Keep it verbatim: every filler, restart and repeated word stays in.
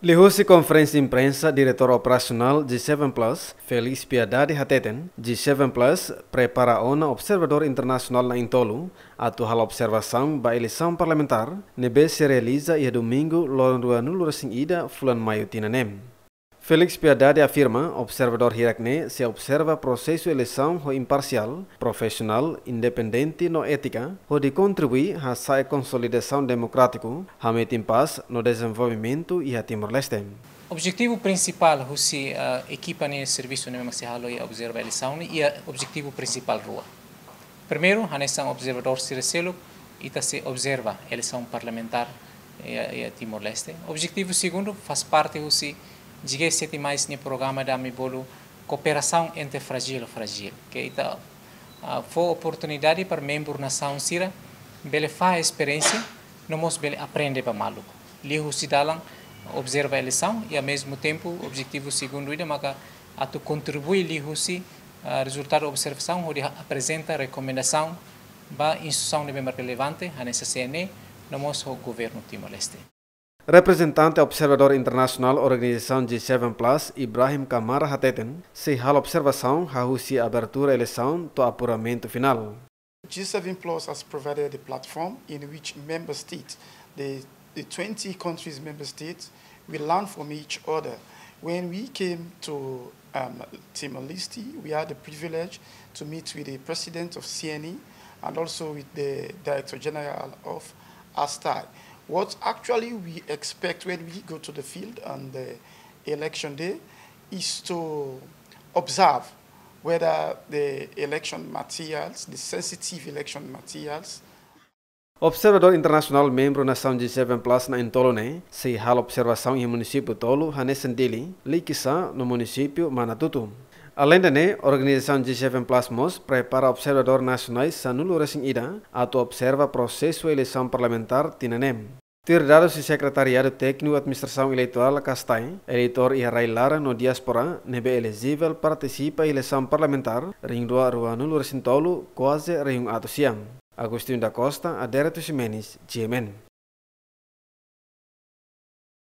Liuhusi konferénsia imprensa, Diretór Operasionál G seven Plus, Félix Piedade hateten, G seven Plus prepara ona observadór internasionál na'in-tolu atu halo observasaun ba eleisaun parlamentár ne'ebé sei realiza iha Domingu, loron ruanulu-resin-ida fulan Maiu tinan ne'e. Félix Piedade afirma, observadór hirak-ne'e sei observa prosesu eleisaun ho imparsiál, profisionál, independente no étika, hodi kontribui hasa'e konsolidasaun demokrátiku, hametin pás no dezenvolvimentu iha Timor-Leste. Objetivu prinsipál husi, ah, ekipa ne'e, servisu ne'e mak sei halo iha observa eleisaun ne'e, iha objetivu prinsipál rua. Primeiru, hanesan observadór sira seluk, ita sei observa eleisaun parlamentár iha, iha Timor-Leste. Objetivu segundu, faz parte husi G sete mais nia programa ida ami bolu kooperasaun entre frájil ho frájil. Ke ita, ah, fó oportunidade para membru nasaun sira bele fahe esperiénsia, no mós bele aprende ba malu. Liuhusi dalan observa eleisaun, i ao mesmo tempo, objetivu segundu ida maka atu kontribui liuhusi, ah, rezultadu observasaun, hodi ha-, aprezenta rekomendasaun ba instituisaun ne'ebé mak relevante, hanesan C N E, no mós ho governu Timor-Leste. Reprezentante observadór internasionál organizasaun G seven Plus, Ibrahim Kamara hateten, sei halo observasaun hahú husi abertura eleisaun to'o apuramentu finál. G seven Plus has provided a platform in which member states, the, the twenty countries member states, we learn from each other. When we came to, um, Timor-Leste, we had the privilege to meet with the president of C N E and also with the director general of ASTAI. What actually we expect when we go to the field on the election day is to observe whether the election materials, the sensitive election materials. Observadór internasionál membru nasaun G seven Plus na'in-tolu ne'e sei halo observasaun iha munisípiu tolu hanesan Dili, Likisá no munisípiu Manatutu. Aleinde ne'e, organizasaun G seven Plus mós prepara observadór nasionais sanulu-resin-ida atu observa prosesu eleisaun parlamentár tinan ne'e. Tuir dadus husi Sekretariadu Tékniku Administrasaun Eleitorál, ASTAI, eleitór iha rai-laran no diáspora ne'ebé elejivel partisipa eleisaun parlamentár rihun rua ruanulu-resin-tolu kuaze rihun atus sia. Agostinho da Costa, Adérito Ximenes, G M N.